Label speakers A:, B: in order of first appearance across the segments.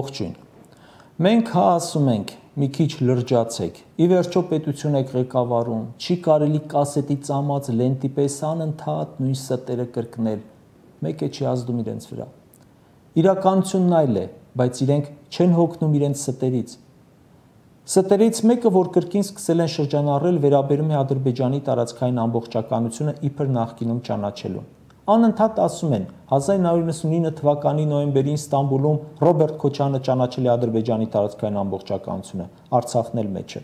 A: Ողջույն։ Մենք ասում ենք, մի քիչ լրջացեք, ի վերջո պետություն եք ղեկավարում, չի կարելի կասետի ծամած լենտի պես անընդհատ նույն ստերը կրկնել, մեկ է չի ազդում իրենց վրա։ Իրականությունն այլ է, բայց իրենք չեն հոգնում իրենց ստերից։ Ստերից մեկը, որ կրկին սկսել են շրջանառել, վերաբերում է Ադրբեջանի տարածքային ամբողջականությունը իբր նախկինում ճանաչելուն։ Անընդհատ ասում են 1999 թվականի նոյեմբերին Ստամբուլում Ռոբերտ Քոչյանը ճանաչել է Ադրբեջանի տարածքային ամբողջականությունը, Արցախն էլ մեջ է։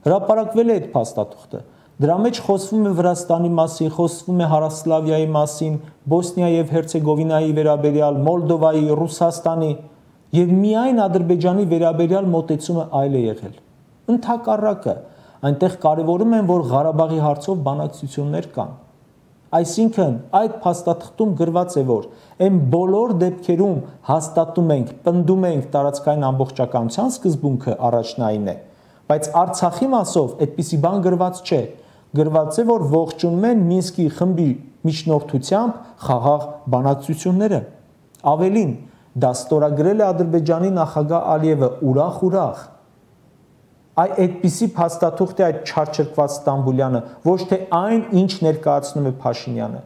A: Հրապարակվել է այդ փաստաթուղթը։ Դրա մեջ խոսվում է Վրաստանի մասին, խոսվում է Հարավսլավիայի մասին, Բոսնիա եւ Հերցեգովինայի վերաբերյալ, Մոլդովայի, Ռուսաստանի եւ միայն Ադրբեջանի վերաբերյալ մոտեցումը այլ է եղել։ Ընդհակառակը, այնտեղ կարևորում են, որ Ղարաբաղի հարցով բանակցություններ կան։ Այսինքն այդ փաստաթղթում գրված է, որ այն բոլոր դեպքերում հաստատում ենք, պնդում ենք տարածքային ամբողջականության սկզբունքը առաջնային է, բայց Արցախի մասով այդպիսի բան գրված չէ, գրված է, որ ողջունում են Մինսկի խմբի միջնորդությամբ խաղաղ բանակցությունները։ Ավելին, դա ստորագրել է Ադրբեջանի նախագահ Ալիևը ուրախ։ Այդպիսի փաստաթուղթ է այդ չարչրկված Ստամբուլյանը, ոչ թե այն, ինչ ներկայացնում է Փաշինյանը։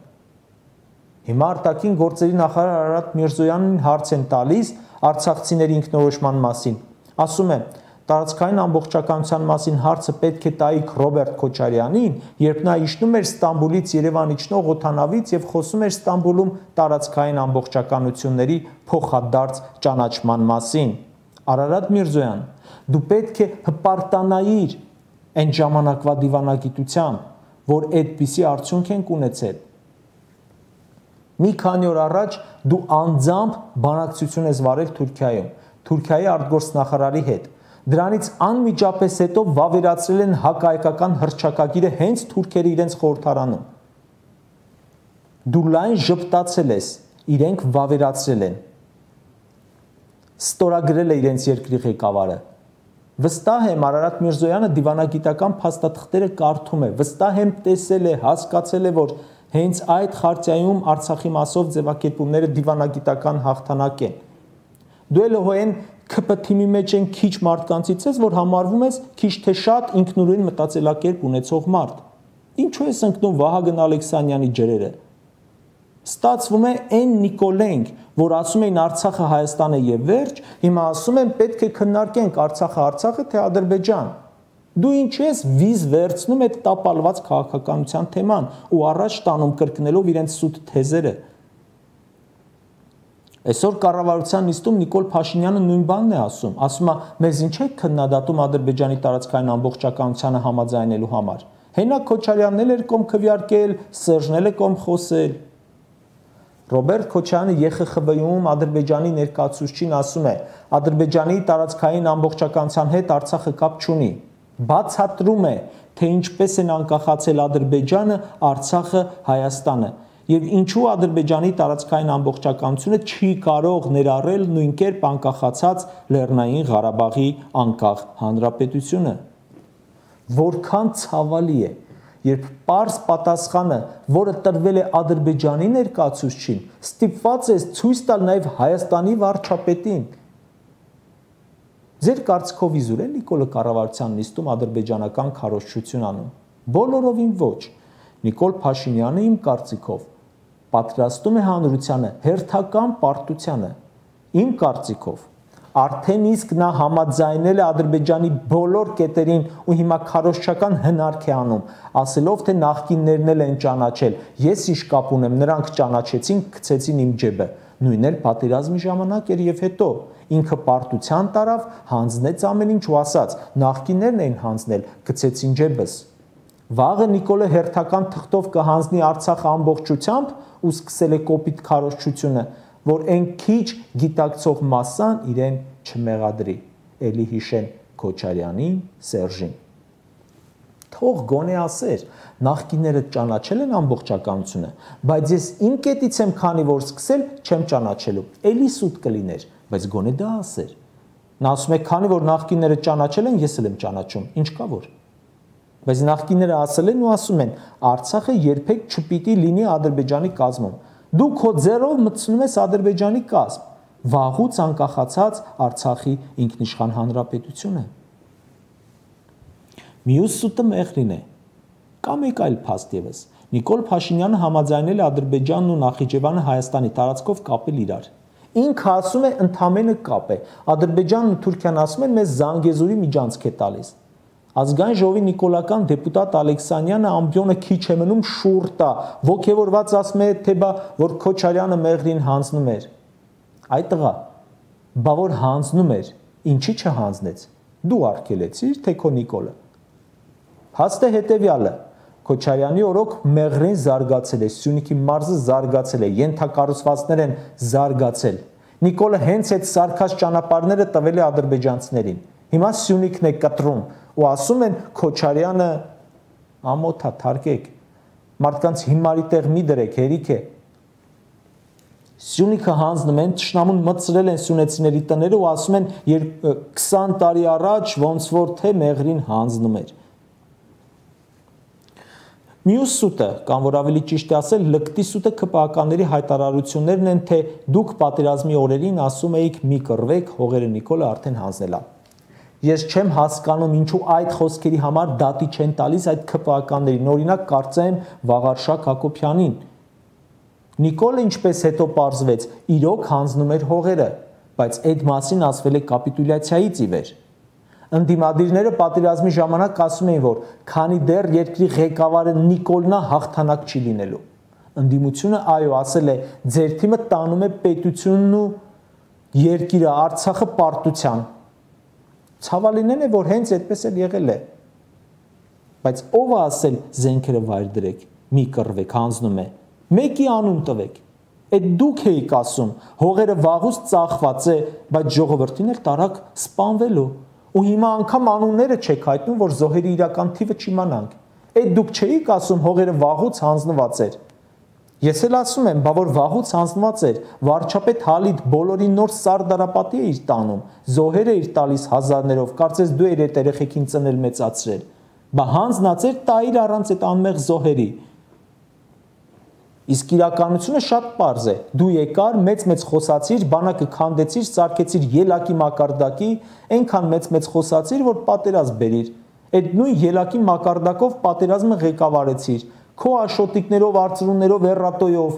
A: Հիմա արտաքին գործերի նախարար Արարատ Միրզոյանին հարց են տալիս արցախցիների ինքնորոշման մասին։ Ասում է, տարածքային ամբողջականության մասին հարցը պետք է տայիք Ռոբերտ Քոչարյանին, երբ նա իջնում էր Ստամբուլից Երևան իջնող օդանավից եւ խոսում էր Ստամբուլում տարածքային ամբողջականությունների փոխադարձ ճանաչման մասին։ Արարատ Միրզոյան, դու պետք է հպարտանայիր այն ժամանակվա դիվանագիտությամբ, որ այդպիսի արդյունք ենք ունեցել։ Մի քանի օր առաջ դու անձամբ բանակցություն ես վարել Թուրքիայում, Թուրքիայի արտգործնախարարի հետ։ Դրանից անմիջապես հետո վավերացրել են հակահայկական հռչակագիրը հենց թուրքերը իրենց խորհրդարանում։ Դու լայն ժպտացել ես, իրենք վավերացրել են։ Ստորագրել է իրենց երկրի ղեկավարը։ Վստահ եմ Արարատ Միրզոյանը դիվանագիտական փաստաթղթերը կարդում է, վստահ եմ տեսել է, հասկացել է, որ հենց այդ խարտիայում Արցախի մասով ձևակերպումները դիվանագիտական հաղթանակ են։ Դու էլ հոեն ԿՊ թիմի մեջ են քիչ մարդկանցից ես, որ համարվում ես քիչ թե շատ ինքնուրույն մտածելակերպ ունեցող մարդ։ Ինչու ես ընկնում Վահագն Ալեքսանյանի ջրերը։ Ստացվում է այն Նիկոլենք, որ ասում էին Արցախը Հայաստան է եւ վերջ, հիմա ասում են պետք է քննարկենք Արցախը թե Ադրբեջան։ Դու ինչ ես վիզ վերցնում այդ տապալված քաղաքականության թեման ու առաջ տանում կրկնելով իրենց սուտ թեզերը։ Այսօր կառավարության նիստում Նիկոլ Փաշինյանը նույն բանն է ասում է մեզ ինչ է քննադատում Ադրբեջանի տարածքային ամբողջականությանը համաձայնելու համար։ Հենակ Քոչարյանն էլ էր կողմ քվեարկել, Սերժն էլ է կողմ խոսել։ Ռոբերտ Քոչյանը ԵԽԽՎ-ում Ադրբեջանի ներկայացուցչին ասում է. Ադրբեջանի տարածքային ամբողջականության հետ Արցախը կապ չունի։ Բացատրում է, թե ինչպես են անկախացել Ադրբեջանը, Արցախը, Հայաստանը, եւ ինչու Ադրբեջանի տարածքային ամբողջականությունը չի կարող ներառել նույն կերպ անկախացած Լեռնային Ղարաբաղի անկախ հանրապետությունը։ Որքան ցավալի է, երբ պարզ պատասխանը, որը տրվել է Ադրբեջանի ներկայացուցչին, ստիպված է ցույց տալ նաև Հայաստանի վարչապետին։ Ձեր կարծիքով իզուր է Նիկոլը կառավարության նիստում ադրբեջանական քարոզչություն անում։ Բոլորովին ոչ։ Նիկոլ Փաշինյանը իմ կարծիքով պատրաստում է հանրությանը հերթական պարտությանը։ Իմ կարծիքով արդեն իսկ նա համաձայնել է Ադրբեջանի բոլոր կետերին ու հիմա քարոզչական հնարք է անում, ասելով թե նախկիններն էլ են ճանաչել, ես ինչ կապ ունեմ, նրանք ճանաչեցին, գցեցին իմ ջեբը, նույնն էլ պատերազմի ժամանակ էր եւ հետո, ինքը պարտության տարավ, հանձնեց ամեն ինչ ու ասաց, նախկիններն էին հանձնել, գցեցին ջեբս։ Վաղը Նիկոլը հերթական թղթով կհանձնի Արցախը ամբողջությամբ ու սկսել է կոպիտ քարոզչությունը, որ այն քիչ գիտակցող մասսան իրեն չմեղադրի, էլի հիշեն Քոչարյանին, Սերժին։ Թող գոնե ասեր, նախկինները ճանաչել են ամբողջականությունը, բայց ես իմ կետից եմ քանի որ սկսել չեմ ճանաչելու, էլի սուտ կլիներ, բայց գոնե դա ասեր։ Նա ասում է, քանի որ նախկինները ճանաչել են, ես էլ եմ ճանաչում, ինչ կա որ։ Բայց նախկինները ասել են ու ասում են, Արցախը երբեք չպիտի լինի Ադրբեջանի կազմում։ Դու քո ձեռով մտցնում ես Ադրբեջանի կազմ։ վաղուց անկախացած Արցախի ինքնիշխան հանրապետությունը։ Մյուս սուտը Մեղրին է։ Կամ մեկ այլ փաստ ևս։ Նիկոլ Փաշինյանը համաձայնել է Ադրբեջանն ու Նախիջևանը Հայաստանի տարածքով կապել իրար։ Ինքը ասում է ընդամենը կապ է։ Ադրբեջանն ու Թուրքիան ասում են մեզ Զանգեզուրի միջանցք է տալիս։ Ազգային ժողովի նիկոլական դեպուտատ Ալեքսանյանը ամբիոնը քիչ է մնում շուռ տա, ոգևորված ասում է թե բա որ Քոչարյանը Մեղրին հանձնում էր։ Այ տղա, բա որ հանձնում էր, ինչի չհանձնեց։ Դու արգելեցիր թե քո Նիկոլը։ Փաստը հետևյալը. Քոչարյանի օրոք Մեղրին զարգացել է, Սյունիքի մարզը զարգացել է, ենթակառուցվածքներ են զարգացել։ Նիկոլը հենց այդ սարքած ճանապարհները տվել է ադրբեջանցիներին։ Հիմա Սյունիքն է կտրում ու ասում են Քոչարյանը ամոթա թարգեք։ Մարդկանց հիմարի տեղ մի դրեք, հերիք է։ Սյունիքը հանձնում են, թշնամուն մտցրել են սյունեցիների տները ու ասում են 20 տարի առաջ ոնց որ թե Մեղրին հանձնում էր։ Մյուս սուտը, կամ որ ավելի ճիշտ է ասել, լկտի սուտը ԿՊԱ-ականների հայտարարություններն են, թե դուք պատերազմի օրերին ասում էիք մի կռվեք, հողերը Նիկոլը արդեն հանձնել է։ Ես չեմ հասկանում ինչու այդ խոսքերի համար դատի չեն տալիս այդ ԿՊԱ-ականներին, օրինակ կարծեմ Վաղարշակ Հակոբյանին։ Նիկոլը ինչպես հետո պարզվեց, իրոք հանձնում էր հողերը, բայց այդ մասին ասվել է կապիտուլյացիայից ի վեր։ Ընդդիմադիրները պատերազմի ժամանակ ասում էին, որ քանի դեռ երկրի ղեկավարը Նիկոլն է, հաղթանակ չի լինելու։ Ընդդիմությունը այո ասել է, ձեր թիմը տանում է պետությունն ու երկիրը Արցախը պարտության։ Ցավալինն է, որ հենց այդպես էլ եղել է։ Բայց ով է ասել զենքերը վայր դրեք, մի կռվեք, հանձնում է։ Մեկի անուն տվեք։ Այդ դուք էիք ասում, հողերը վաղուց ծախված է, բայց ժողովրդին էլ տարակ սպանվելու։ Ու հիմա անգամ անունները չեք հայտնում, որ զոհերի իրական թիվը չիմանանք։ Այդ դուք չէիք ասում հողերը վաղուց հանձնված էր։ Ես էլ ասում եմ, բա որ վաղուց հանձնված էր, վարչապետ Հալիդ բոլորին նոր Սարդարապատի է իր տանում, զոհեր է իր տալիս հազարներով, կարծես դու էր այդ երեխեքին ծնել մեծացրել։ Բա հանձնած էր տայր առանց այդ անմեղ զոհերի։ Իսկ իրականությունը շատ պարզ է։ Դու եկար, մեծ խոսացիր, բանակը քանդեցիր, սարքեցիր ելակի մակարդակի, այնքան մեծ խոսացիր, որ պատերազմ բերիր։ Այդ նույն ելակի մակարդակով պատերազմը ղեկավարեցիր, քո աշոտիկներով, արծրուններով, էռատոյով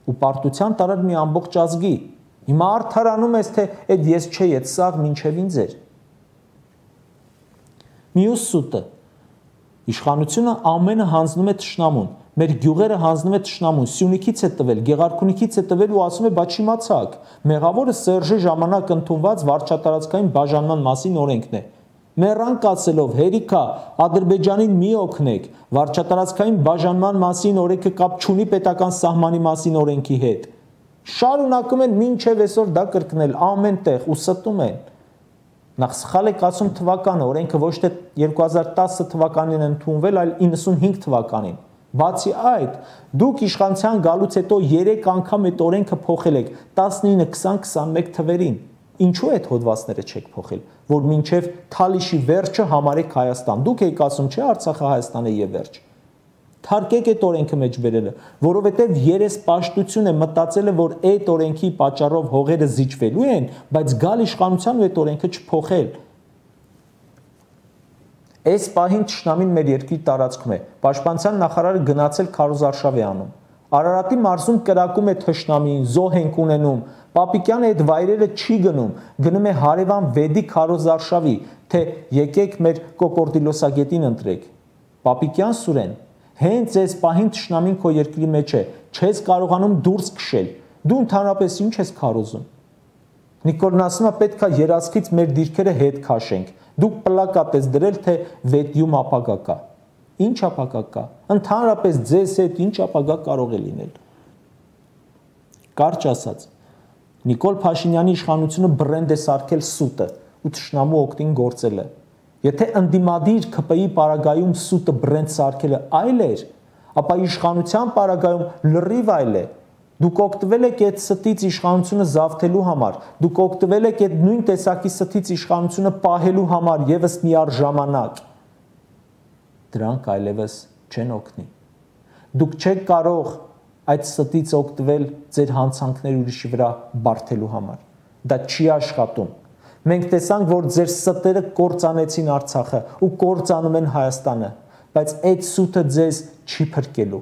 A: ու պարտության տարար մի ամբողջ ազգի։ Հիմա արդարանում ես, թե այդ ես չէի, այդ սաղ մինչև ինձ էր։ Մյուս սուտը։ Իշխանությունը ամենը հանձնում է թշնամուն։ Մեր գյուղերը հանձնում է թշնամուն, Սյունիքից է տվել, Գեղարքունիքից է տվել ու ասում է, բա չիմացաք։ Մեղավորը Սերժի ժամանակ ընդունված վարչատարածքային բաժանման մասին օրենքն է։ Մեռանք ասելով, հերիքա, Ադրբեջանին մի օգնեք, վարչատարածքային բաժանման մասին օրենքը կապ չունի պետական սահմանի մասին օրենքի հետ։ Շարունակում են մինչև այսօր դա կրկնել ամեն տեղ ու ստում են։ Նախ սխալ եք ասում թվականը, օրենքը ոչ թե 2010 թվականին ընդունվել, այլ 95 թվականին։ Բացի այդ, դուք իշխանության գալուց հետո 3 անգամ այդ օրենքը փոխել եք 19, 20, 21 թվերին։ Ինչու այդ հոդվածները չեք փոխել, որ մինչև Թալիշի վերջը համարեք Հայաստան։ Դուք եք ասում, չէ, Արցախը Հայաստան է եւ վերջ։ Թարգեք այդ օրենքը մեջ բերելը, որովհետեւ երեսպաշտություն է մտածել է, որ այդ օրենքի պատճառով հողերը զիջվելու են, բայց գալ իշխանության ու այդ օրենքը չփոխել։ Այս պահին թշնամին մեր երկրի տարածքում է։ Պաշտպանության նախարարը գնացել քարոզարշավ է անում։ Արարատի մարզում կրակում է թշնամին, զոհ ենք ունենում։ Պապիկյանը այդ վայրերը չի գնում, գնում է հարևան Վեդի քարոզարշավի, թե եկեք մեր կոկորդիլոսագետին ընտրեք։ Պապիկյան Սուրեն, հենց այս պահին թշնամին քո երկրի մեջ է, չես կարողանում դուրս քշել։ Դու ընդհանրապես ինչ ես քարոզում։ Նիկոլն ասում է, պետք է երազքից մեր դիրքերը հետ քաշենք։ Դուք պլակատ ես դրել, թե վետյում ապագա կա։ Ինչ ապագա կա։ Ընդհանրապես ձեզ հետ ինչ ապագա կարող է լինել։ Կարճ ասած, Նիկոլ Փաշինյանի իշխանությունը բրենդ է սարքել սուտը ու թշնամու օգտին գործելը։ Եթե ընդդիմադիր ԿՊ-ի պարագայում սուտը բրենդ սարքելը այլ էր, ապա իշխանության պարագայում լրիվ այլ է։ Դուք օգտվել եք այդ ստից իշխանությունը զավթելու համար, դուք օգտվել եք այդ նույն տեսակի ստից իշխանությունը պահելու համար եւս միառժամանակ։ Դրանք այլևս չեն օգնի։ Դուք չեք կարող այդ ստից օգտվել ձեր հանցանքները ուրիշի վրա բարթելու համար։ Դա չի աշխատում։ Մենք տեսանք, որ ձեր ստերը կործանեցին Արցախը ու կործանում են Հայաստանը, բայց այդ սուտը ձեզ չի փրկելու։